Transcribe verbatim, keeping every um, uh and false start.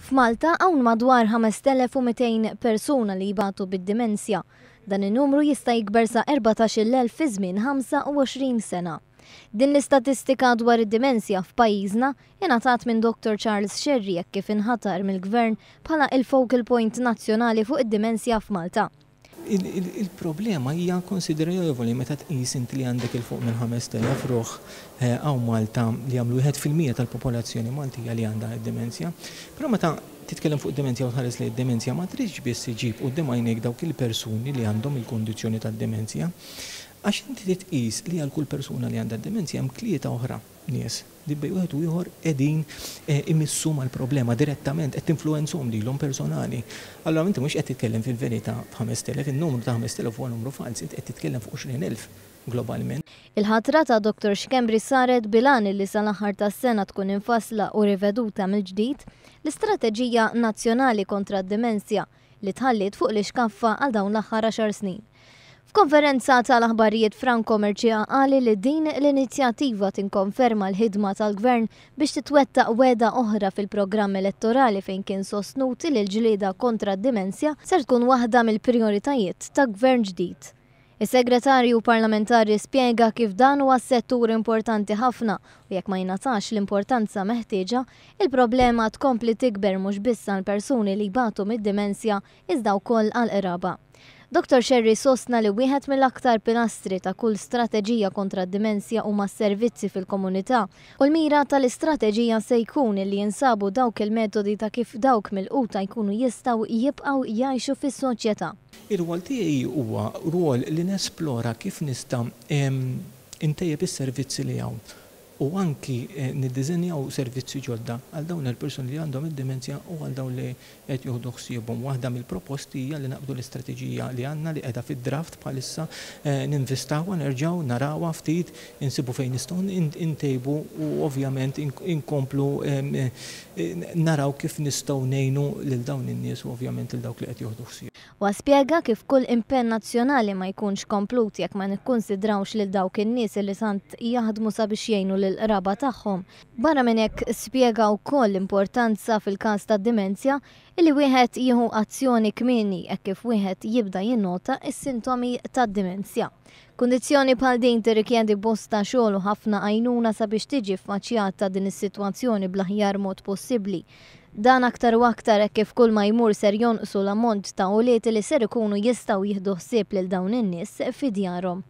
F'Malta hawn madwar ħamest elef u mitejn persuna li jbatu bid-dimensja. Dan in-numru jista' jikber sa erbatax-il elf fi żmien ħamsa u għoxrin sena. Din l-istatistika dwar id-dimensja f'pajjiżna ingħatat minn Doctor Charles Scerri jekk kif inħatar mill-Gvern bħala il-focal point nazzjonali fuq id-dimensja f'Malta. Il-problema hija konsiderevoli meta tqis inti li għandek 'il fuq minn ħamest elef ruħ hawn eh, Malta li jagħmlu wieħed fil-mija tal-popolazzjoni Maltija li għandha d-dimensja. Però meta titkellem fuq dimensja u tħares li d-dimensja, ma tridx biss iġib quddiem għajnejk dawk il-persuni li għandhom il-kondizzjoni tad-dimensja. Għax inti tqis li għal kull persuna li għandha d-dimensja hemm tlieta oħra nies li bejn wieħed u ieħor qegħdin eh, imissu mal-problema direttament, qed tinfluwenzahom lilhom personali. Allora inti mhux qed titkellem fil-verità f'ħamest elef, in-numru ta' ħamest elef huwa numru fals, inti qed titkellem fuq għoxrin elf globalment. Il-ħatra ta' Doctor Schembri saret bil-għan li sal-aħħar tas-sena tkun infassla u riveduta mill-ġdid l-Istrateġija Nazzjonali kontra d-Dimensja li tħallit fuq l-iskaffa għal dawn l-aħħar għaxar snin. F'konferenza tal-aħbarijiet, Franco Mercieca qal li din l-inizjattiva tinkonferma l-ħidma tal-Gvern biex titwettaq wegħda oħra fil-programm elettorali, fejn kien sostnut li l-ġlieda kontra d-dimensja ser tkun waħda mill-prioritajiet ta' gvern ġdid. Is-segretarju parlamentari spjega kif dan huwa settur importanti ħafna u jekk ma jingħatax l-importanza meħtieġa, il-problema tkompli tikber mhux biss għal persuni li jbatu mid-dimensja iżda wkoll għal qraba. Doctor Scerri sostna li wieħed mill-aktar pilastri ta' kull strateġija kontra d-dimensja huma s-servizzi fil-komunità u l-mira tal-istrateġija se jkun li jinsabu dawk il-metodi ta' kif dawk milquta jkunu jistgħu jibqgħu jgħixu fis-soċjetà. Ir-rwol tiegħi huwa rwol li nesplora kif nista' intejjeb is-servizzi li hawn u anki eh, niddiżenjaw servizzi ġodda għal dawn il-persuni li għandhom id-dimenzja u għal dawn li qed jieħdu ħsiebhom. Waħda mill-proposti hija li naqbdu l-istrateġija li għandna, li qiegħda fid-draft bħalissa, eh, ninvestawha, nerġgħu narawha ftit, insibu fejn nistgħu intejbu u ovvjament inkomplu eh, naraw kif nistgħu ngħinu lil dawn in-nies u ovvjament lil dawk li qed jieħdu ħsieb. Wa spjega kif kull impenn nazzjonali ma jkunx komplut jekk ma nikkonsidrawx lil dawk in-nies li tant jaħdmu sabiex jgħinu lil qraba tagħhom. Barra minn hekk, spjega wkoll l-importanza fil-każ ta' dimenzja illi wieħed jieħu azzjoni kmieni hekk kif wieħed jibda jinnota s-sintomi tad-dimenzja. Kundizzjoni bħal din tirrikjedi bosta xogħol u ħafna għajnuna sabiex tiġi ffaċċjata din is-sitwazzjoni bl-aħjar mod possibbli. Dan aktar u aktar hekk kif kull ma jmur ser jonqsu l-ammont ta' ulied li ser ikunu jistgħu jieħdu ħsieb lil dawn in-nies fi djarhom.